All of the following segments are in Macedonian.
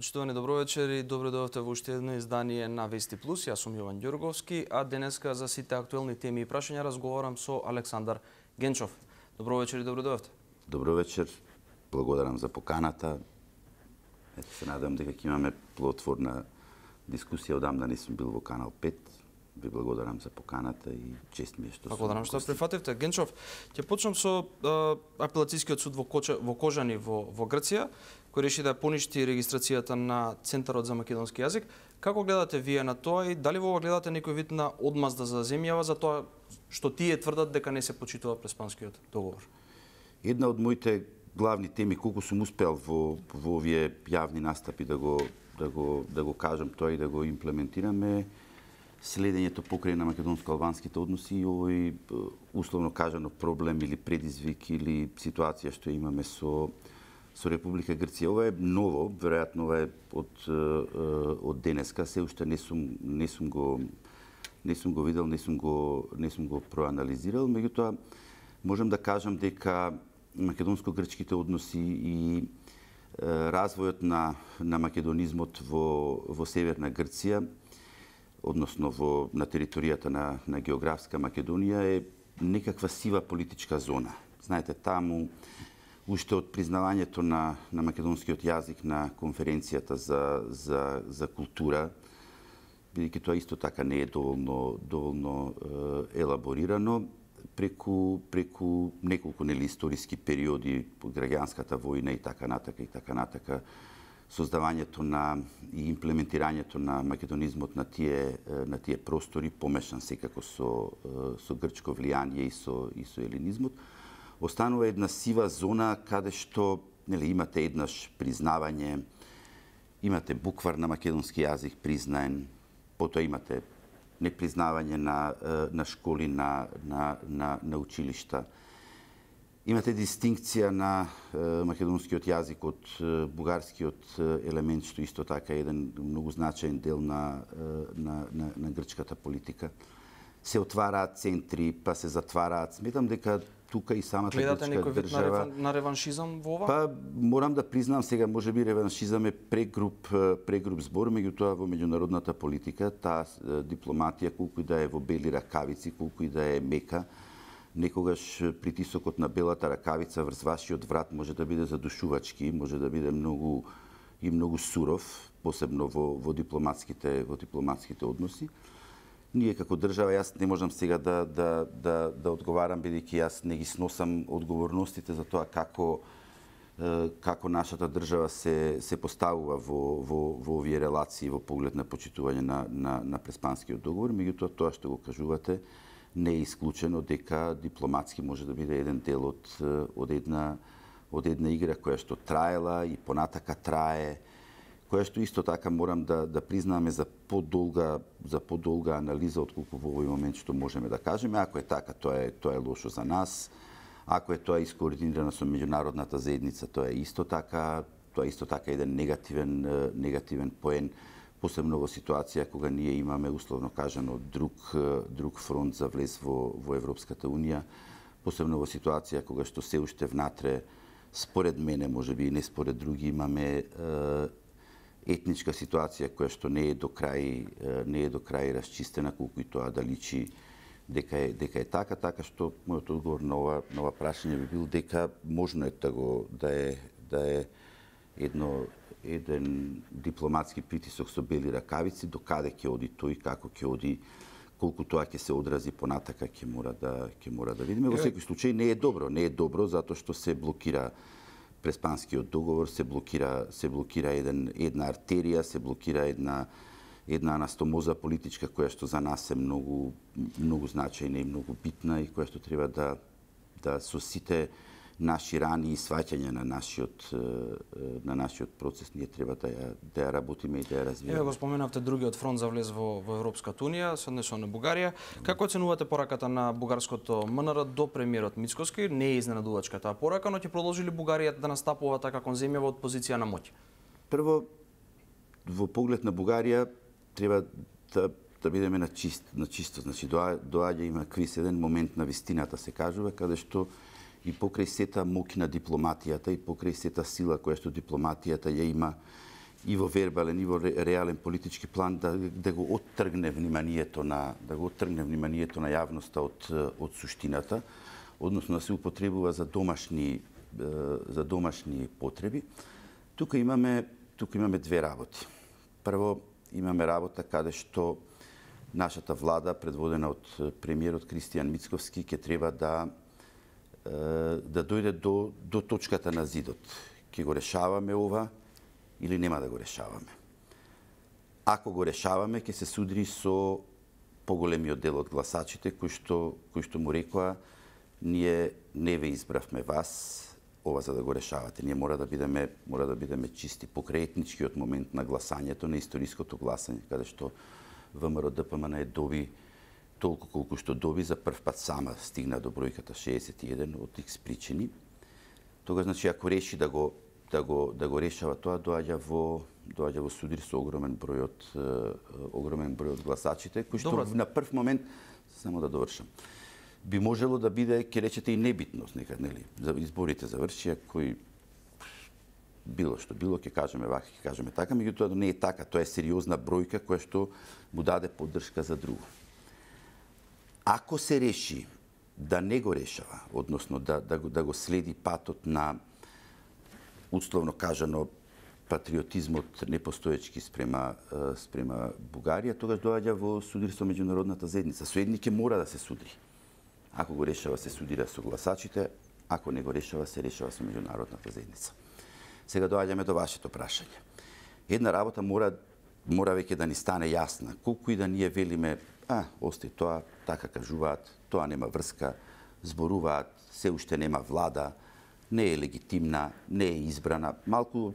Почитувани, добро вечер и добро дојдовте во уште едно издание на Вести Плюс. Јас сум Јован Ѓурговски, а денеска за сите актуелни теми и прашања разговарам со Александар Генчов. Добро вечер и добро дојдовте. Добро вечер. Благодарам за поканата. Ето се надам дека ќе имаме плодотворна дискусија. Одамна не сум бил во Канал 5. Ви благодарам за поканата и чест ми е што благодарам што прифативте. Генчов, ќе почнам со апелацискиот суд во Кожани во Грција, кој реши да поништи регистрацијата на Центарот за македонски јазик. Како гледате вие на тоа и дали во ова гледате некој вид на одмазда за земјава за тоа што тие тврдат дека не се почитува Преспанскиот договор? Една од моите главни теми, колку сум успеал во овие јавни настапи да го кажам тоа и да го имплементираме, следењето покрај на македонско-албанските односи и овој условно кажано проблем или предизвик или ситуација што имаме со Република Грција. Ова е ново, веројатно ова е од денеска, се уште не сум го видел, не сум го проанализирал, меѓутоа можам да кажам дека македонско-грчките односи и развојот на македонизмот во Северна Грција, односно на територијата на географска Македонија, е некаква сива политичка зона. Знаете, таму уште од признавањето на македонскиот јазик на конференцијата за култура, бидејќи тоа исто така не е доволно елаборирано, преку неколку историски периоди под граѓанската војна и така натака, создавањето и имплементирањето на македонизмот на тие простори, помешан секако со грчко влијание и со елинизмот, останува една сива зона каде што имате еднаш признавање, имате буквар на македонски јазик признаен, потоа имате непризнавање на школи, на училишта. Имате дистинкција на македонскиот јазик од бугарскиот елемент, што исто така е еден многу значаен дел на грчката политика. Се отвараат центри, па се затвараат. Сметам дека тука и самата грчка држава... Гледате некој вид на реваншизам во ова? Па, морам да признам сега, можеби реваншизам е прегруп збор, меѓутоа во меѓународната политика, таа дипломатија, колку и да е во бели ракавици, колку и да е мека, некогаш притисокот на белата ракавица врз вашиот врат може да биде задушувачки, може да биде многу суров, посебно во дипломатските односи. Ние како држава, јас не можам сега да одговарам, бидејќи јас не ги сносам одговорностите за тоа како нашата држава се поставува во овие релации во поглед на почитување на Преспанскиот договор, меѓутоа тоа што го кажувате не е исклучено дека дипломатски може да биде еден дел од една игра која што траела и понатака трае, која што исто така морам да признаме за подолга анализа отколку во овој момент што можеме да кажеме. Ако е така, тоа е лошо за нас. Ако е тоа искоординирано со меѓународната заедница, тоа е исто така еден негативен поен, посебно во ситуација кога ние имаме условно кажано друг фронт за влез во Европската Унија, посебно во ситуација кога што се уште внатре, според мене, можеби и не според други, имаме етничка ситуација која што не е до крај расчистена, колку и тоа да личи дека е така што мојот одговор на ова прашање би бил дека можно е да е еден дипломатски притисок со бели ракавици, до каде ќе оди тој, како ќе оди, колку тоа ќе се одрази понатака, ќе мора да видиме. Во секој случај не е добро затоа што се блокира Преспанскиот договор, се блокира една артерија, се блокира една анастомоза политичка која што за нас е многу значајна и многу битна и која што треба да со сите наши рани и сваќања на нашиот процес ние треба да ја работиме и да ја развиваме. Еве го споменавте другиот фронт за влез во Европската Унија, се однесува на Бугарија. Како оценувате пораката на бугарското МНР до премиерот Мицкоски? Не е изненадувачка таа порака, но ќе продолжи ли Бугарија да настапува така кон земјава од позиција на моќ? Прво, во поглед на Бугарија треба да бидеме на чисто. Значи, доаѓа има криз еден момент на вистината, се кажува, каде што и покрај сета моќ на дипломатијата и покрај сета сила која што дипломатијата ја има и во вербален и во реален политички план да го оттргне вниманието на јавноста од суштината, односно да се употребува за домашни потреби. Тука имаме две работи. Прво, имаме работа каде што нашата влада, предводена од премиерот Кристијан Мицковски, ќе треба да дојде до точката на зидот. Ќе го решаваме ова или нема да го решаваме. Ако го решаваме, ќе се судри со поголемиот дел од гласачите кои што му рекоа: ние не ве избравме вас ова за да го решавате. Ние мора да бидеме чисти. Покрај етничкиот момент на гласањето, на историското гласање, каде што ВМРО ДПМН доби толку колку што доби, за прв пат сама стигна до бројката 61 од X причини. Тогаш, значи, ако реши да го решава тоа, доаѓа во судир со огромен број од гласачите, кои што на прв момент, само да довршам, би можело да биде, ќе речете, и небитност некад, нели? За изборите завршија, кои било што било, ќе кажеме вака, ќе кажеме така, меѓутоа не е така, тоа е сериозна бројка која што му даде поддршка за друго. Ако се реши да не го решава, односно да го следи патот на, условно кажано, патриотизмот непостоечки спрема Бугарија, тогаш доаѓа во судир со меѓународната заедница. Соедник ќе мора да се судри. Ако го решава, се судира со гласачите, ако не го решава, се решава со меѓународната заедница. Сега доаѓаме до вашето прашање. Една работа мора веќе да ни стане јасна. Колку и да ние велиме: ости тоа, така кажуваат, тоа нема врска, зборуваат, се уште нема влада, не е легитимна, не е избрана, малку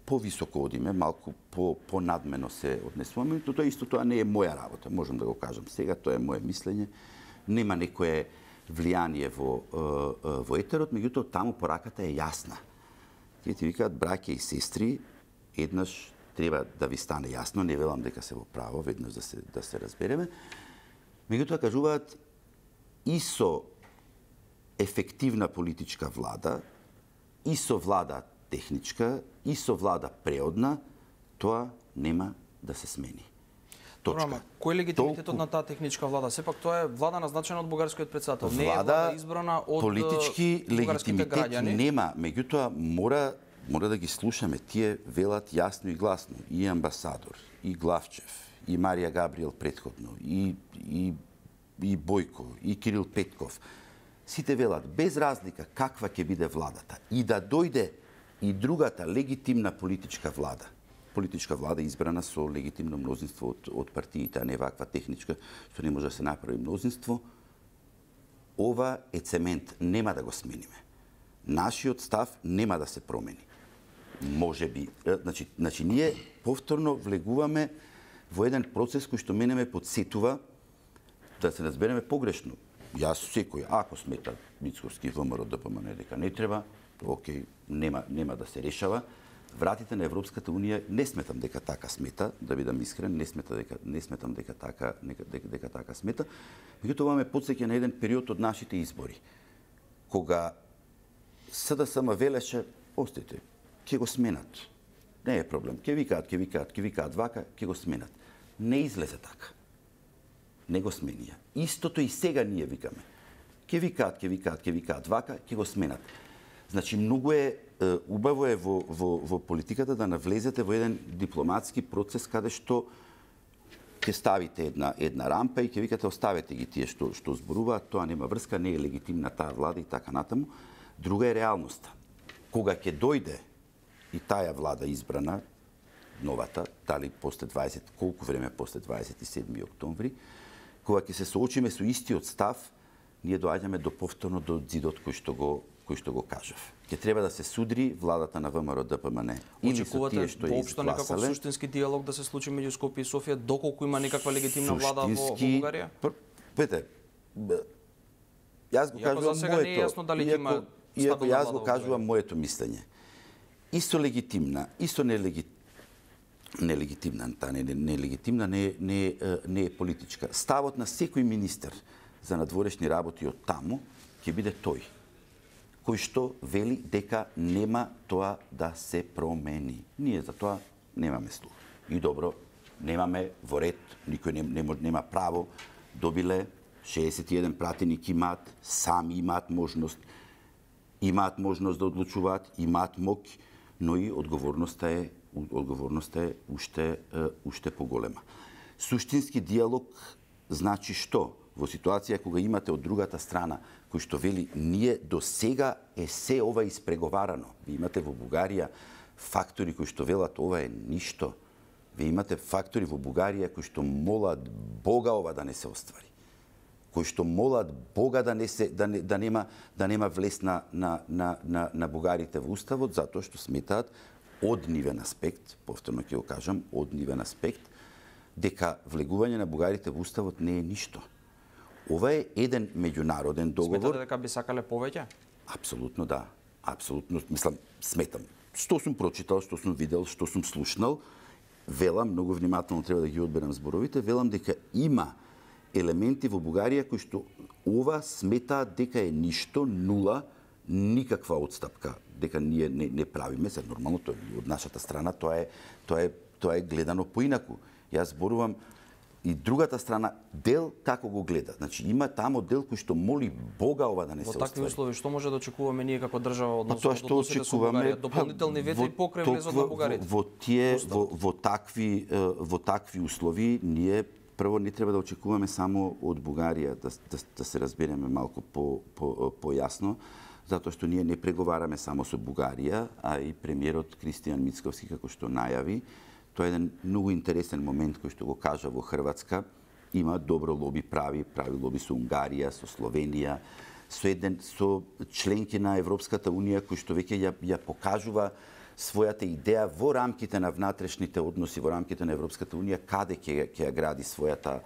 повисоко одиме, малку понадмено се однесуваме, тоа не е моја работа, можам да го кажам сега, тоа е моје мислење, нема некое влијание во етерот, меѓутоа таму пораката е јасна. Тие ти викаат: браќа и сестри, еднаш треба да ви стане јасно, не велам дека се во право, веднаш да се разбереме. Меѓутоа кажуваат: и со ефективна политичка влада, и со влада техничка, и со влада преодна, тоа нема да се смени. Точка. Кој е легитимитетот на таа техничка влада? Сепак тоа е влада назначена од бугарскиот претседател, не е влада избрана од политички легитимитет нема, меѓутоа мора да ги слушаме. Тие велат јасно и гласно. И амбасадор, и Главчев, и Марија Габриел претходно, и Бојко, и Кирил Петков. Сите велат без разлика каква ќе биде владата и да дојде и другата легитимна политичка влада избрана со легитимно мнозинство од партиите, а не ваква техничка што не може да се направи мнозинство. Ова е цемент, нема да го смениме. Нашиот став нема да се промени. Може би, значи ние повторно влегуваме во еден процес кој што мене ме подсетува, да се разбереме погрешно. Јас секој, ако смета Мицковски ВМРО ДПМН дека не треба, окей, нема да се решава. Вратите на Европската унија не сметам дека така смета, да бидам искрен, не сметам дека така смета. Меѓутоа ова ме потсеќа на еден период од нашите избори, кога СДСМ велеше: остите, ќе го сменат. Не е проблем. Ќе викаат вака, ќе го сменат. Не излезе така. Не го сменија. Истото и сега ние викаме. Ќе викаат вака, ќе го сменат. Значи, многу е убаво е во политиката да навлезете во еден дипломатски процес каде што ќе ставите една рампа и ќе викате: оставете ги тие што зборуваат, тоа нема врска, не е легитимна таа влада и така натаму. Друга е реалноста. Кога ќе дојде и таа влада избрана, новата, дали после 20, колку време после 27 октомври, кога ќе се соочиме со истиот став, ние доаѓаме до повторно до зидот кој што го кажав. Ќе треба да се судри владата на ВМРО ДПМН или со тие што ја изгласале. Некаков суштински диалог да се случи меѓу Скопје и Софија, доколку има некаква легитимна влада во Бугарија? Пете, јас го кажувам моето. Иако јас го кажувам моето мислење. Исто легитимна, исто нелегитимна, нелегитимна не е политичка. Ставот на секој министер за надворешни работи од таму ќе биде тој, кој што вели дека нема тоа да се промени. Ние за тоа немаме слух. И добро, немаме во ред, никој нема право, добиле 61 пратеник имаат, сами имаат можност да одлучуваат, имаат мок, но и одговорноста е уште поголема. Суштински диалог значи што? Во ситуација кога имате од другата страна кој што вели ние до сега е се ова испреговарано. Ви имате во Бугарија фактори кои што велат ова е ништо. Ви имате фактори во Бугарија кои што молат Бога ова да не се оствари. Кои што молат Бога да нема влез на бугарите во уставот, затоа што сметаат од нивен аспект, повторно ќе го кажам, од нивен аспект, дека влегување на бугарите во уставот не е ништо. Ова е еден меѓународен договор. Сметате дека би сакале повеќе? Апсолутно да. Апсолутно, сметам. Што сум прочитал, што сум видел, што сум слушнал, велам, многу внимателно треба да ги одберам зборовите, велам дека има елементи во Бугарија кои што ова сметаат дека е ништо, нула, никаква отстапка, дека ние не правиме, се нормално тоа од нашата страна тоа е гледано поинаку. Јас зборувам и другата страна дел како го гледа. Значи има тамо дел кој што моли Бога ова да не се оствари. Во такви услови што може да очекуваме ние како држава од односите со Бугарија? Дополнителни ветви покрај влезот на бугарите. Во такви услови ние прво не треба да очекуваме само од Бугарија, да се разбереме малку појасно, затоа што ние не преговараме само со Бугарија, а и премиерот Кристијан Мицковски како што најави. Тоа е еден многу интересен момент кој што го кажа во Хрватска. Има добро лоби, прави лоби со Унгарија, со Словенија, со членки на Европската Унија кој што веќе ја покажува својата идеја во рамките на внатрешните односи, во рамките на Европската Унија, каде ќе ја гради својата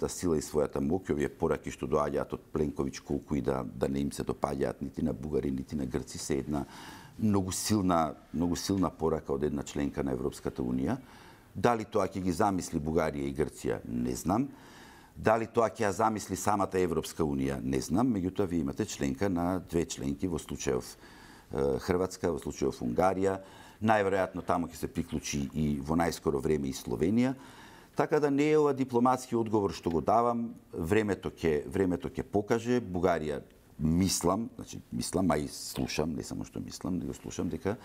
сила и својата моќ. Овие пораки што доаѓаат од Пленковиќ, колку и да не им се допаѓаат нити на бугари, нити на грци, се една многу силна порака од една членка на Европската Унија. Дали тоа ќе ги замисли Бугарија и Грција, не знам. Дали тоа ќе ја замисли самата Европска Унија, не знам. Меѓутоа, ви имате членка на две членки, во случајов Хрватска, во случајов Унгарија. Најверојатно тамо ќе се приклучи и во најскоро време и Словенија. Така да не е ова дипломатски одговор што го давам, времето ќе покаже. Бугарија мислам, а и слушам, не само што мислам, него слушам дека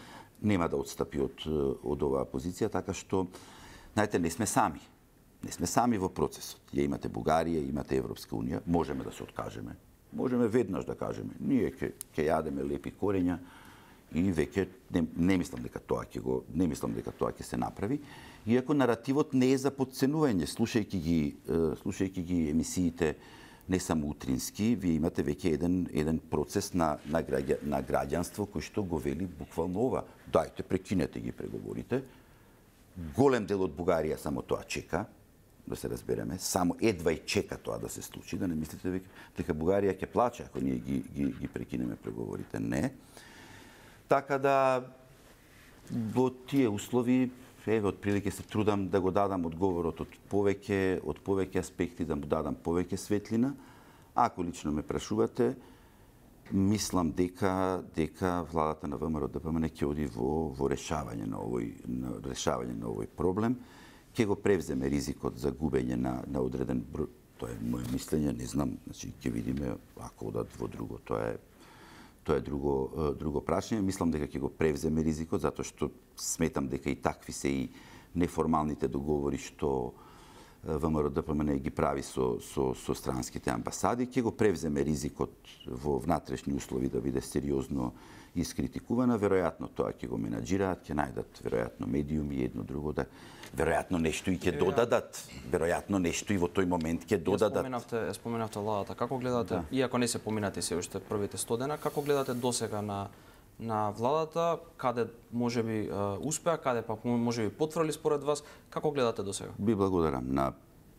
нема да отстапи од оваа позиција, така што, знаете, не сме сами. Не сме сами во процесот. Ја имате Бугарија, имате Европска Унија, можеме да се откажеме. Можеме веднаш да кажеме, ние ќе јадеме лепи корења и веќе не мислам дека тоа ќе се направи. Иако наративот не е за потценување, слушајќи ги емисиите не само утрински, вие имате веќе еден процес на граѓанство кој што го вели буквално ова. Дајте, прекинете ги преговорите. Голем дел од Бугарија само тоа чека, да се разбереме, само едва и чека тоа да се случи, да не мислите дека Бугарија ќе плаче ако ние ги прекинеме преговорите. Не. Така да, во тие услови, отприлике се трудам да го дадам одговорот од повеќе аспекти, да му дадам повеќе светлина. Ако лично ме прашувате, мислам дека владата на ВМРО-ДПМН ќе оди во решавање на овој проблем. Ќе го превземе ризикот за губење на одреден број. Тоа е моје мислење, не знам, значи ќе видиме ако одат во друго, тоа е друго прашање. Мислам дека ќе го превземе ризикот, затоа што сметам дека и такви се и неформалните договори што ВМРО-ДПМН ги прави со странските амбасади. Ќе го превземе ризикот во внатрешни услови да биде сериозно искритикувана. Веројатно тоа ќе го менаџираат, ќе најдат веројатно медиуми едно друго, да веројатно нешто и ќе додадат, веројатно нешто и во тој момент ќе додадат. Споменавте владата. Како гледате, иако не се поминати се уште првите 100 дена, како гледате досега на владата, каде можеби успеа, каде пак можеби потврли според вас, како гледате досега? Би благодарам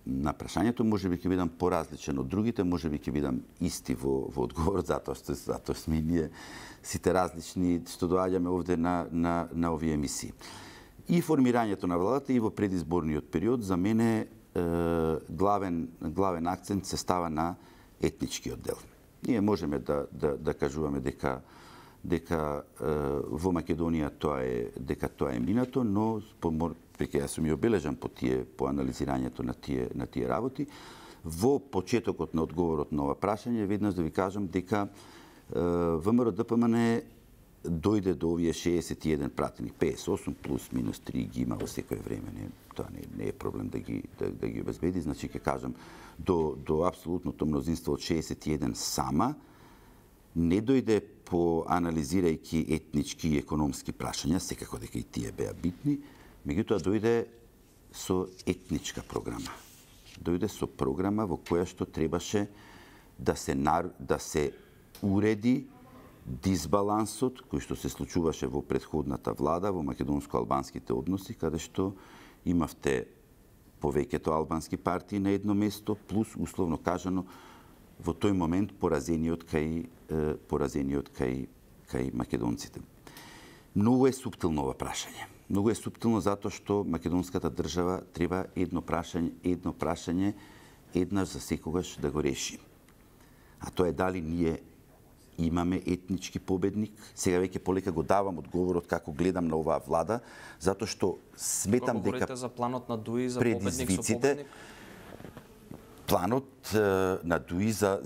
на прашањето, можеби ќе бидам поразличен од другите, можеби ќе бидам исти во одговор, затоа што сме ние сите различни што доаѓаме овде на овие емисии. И формирањето на владата и во предизборниот период за мене главен акцент се става на етничкиот дел. Ние можеме да кажуваме дека дека во Македонија тоа е минато, но веќе јас сум и обележан по анализирањето на тие работи. Во почетокот на одговорот на ова прашање, веднаш да ви кажам дека ВМРО-ДПМН дојде до овие 61 пратеник, 58 плюс минус 3 ги има во секое време. Тоа не е проблем да ги обезбеди. Значи, ќе кажам, до апсолутното мнозинство од 61 сама, не дојде по анализирајќи етнички и економски прашања, секако дека и тие беа битни, меѓутоа дојде со етничка програма. Дојде со програма во која што требаше да се уреди дисбалансот кој што се случуваше во претходната влада во македонско-албанските односи, каде што имавте повеќето албански партии на едно место, плюс, условно кажано, во тој момент поразениот кај македонците. Многу е суптилно ова прашање. Многу е суптилно затоа што македонската држава треба едно прашање еднаш за секогаш да го реши. А тоа е дали ние имаме етнички победник. Сега веќе полека го давам одговорот како гледам на оваа влада, затоа што сметам дека говорите за планот на Дуи за победник со победник. Планот на Дуи за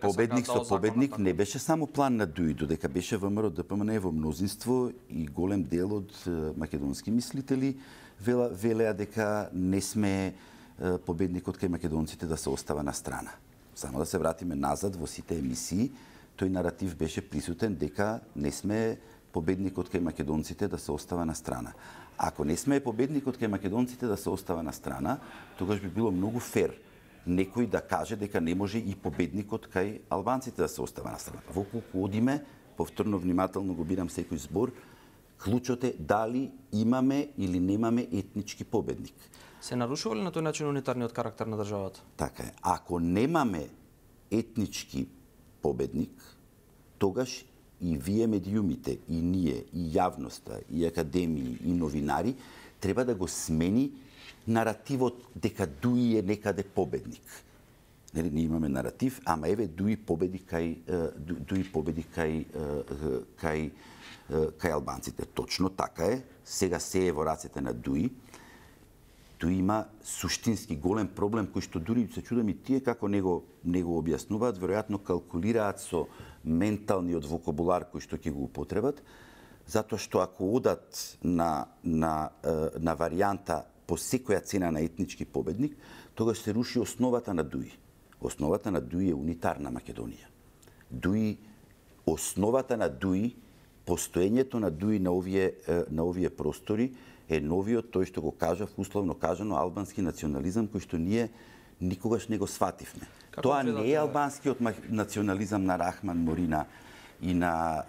победник со победник не беше само план на Дуи, додека беше ВМРО-ДПМН во мнозинство и голем дел од македонски мислители велеа дека не сме победникот кај македонците да се остава на страна. Само да се вратиме назад во сите емисии, тој наратив беше присутен дека не сме победникот кај македонците да се остава на страна. Ако не сме победникот кај македонците да се остава на страна, тогаш би било многу фер некој да каже дека не може и победникот кај албанците да се остава на страна. Во колку одиме, повторно внимателно го бирам секој збор, клучот е дали имаме или немаме етнички победник. Се нарушува ли на тој начин унитарниот карактер на државата? Така е. Ако немаме етнички победник, тогаш и вие медиумите, и ние, и јавноста, и академии, и новинари, треба да го смени наративот дека Дуи е некаде победник. Ние имаме наратив, ама еве Дуи победи кај албанците. Точно така е. Сега се е во рацете на Дуи. Дуи има суштински голем проблем кој што дури се чудам и тие како не го објаснуваат, веројатно калкулираат со менталниот вокабулар кој што ќе го употребат, затоа што ако одат на варијанта по секоја цена на етнички победник, тогаш се руши основата на Дуи. Основата на Дуи е унитарна Македонија. Основата на Дуи, постоењето на Дуи на овие простори е новиот, тој што го кажав, условно кажано, албански национализам кој што ние никогаш не го свативме. Тоа не е албанскиот национализам на Рахман Морина и на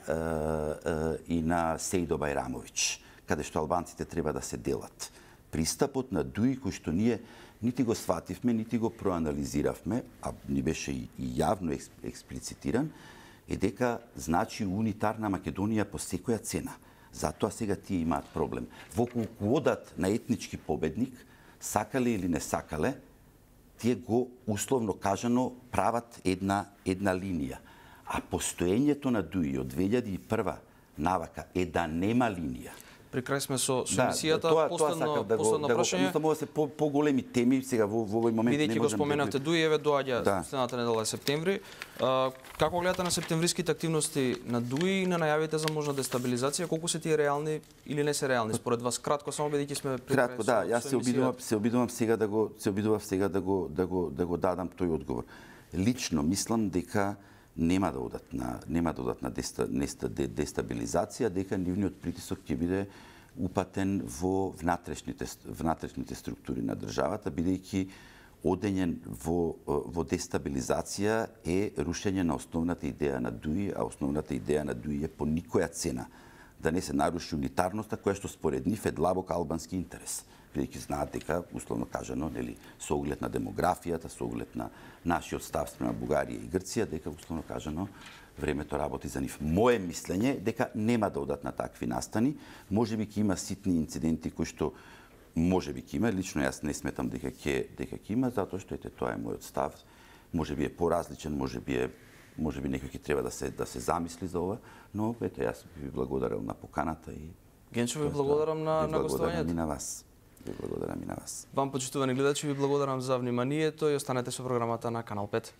Сејдо Бајрамовиќ, каде што албанците треба да се делат. Пристапот на Дуи кој што ние нити го свативме, нити го проанализиравме, а ни беше и јавно експлицитиран, е дека значи унитарна Македонија по секоја цена. Затоа сега тие имаат проблем. Во колку одат на етнички победник, сакале или не сакале, тие го условно кажано прават една линија. А постоењето на Дуи од 2001 навака е да нема линија. При крај сме со емисијата, последно прашање. Може се поголеми теми сега во овој момент не можам. Бидејќи го споменавте Дуи, еве доаѓа следната недела е септември. Како гледате на септемвриските активности на Дуи и на најавите за можна дестабилизација? Колку се тие реални или не се реални според вас? Кратко, само бидејќи сме при крај. Кратко, да, јас се обидувам сега да го дадам тој одговор. Лично мислам дека нема да одат на дестабилизација, дека нивниот притисок ќе биде упатен во внатрешните структури на државата, бидејќи одење во дестабилизација е рушење на основната идеја на Дуи, а основната идеја на Дуи е по никоја цена да не се наруши унитарноста, која што според нив е длабок албански интерес. Бидејќи знаат дека, условно кажано, со оглед на демографијата, со оглед на нашиот став спрема Бугарија и Грција, дека, условно кажано, времето работи за нив. Моje мислење дека нема да одат на такви настани. Можеби ќе има ситни инциденти кои што можеби ќе има. Лично јас не сметам дека ќе има, затоа што тоа е мојот став. Можеби е поразличен, можеби е може би некој ќе треба да се замисли за ова, но ето јас ви благодарам на поканата и Генчо, ви благодарам на гостувањето. Ви на вас. Ви благодарам и на вас. Вам, почитувани гледачи, ви благодарам за вниманието и останете со програмата на Канал 5.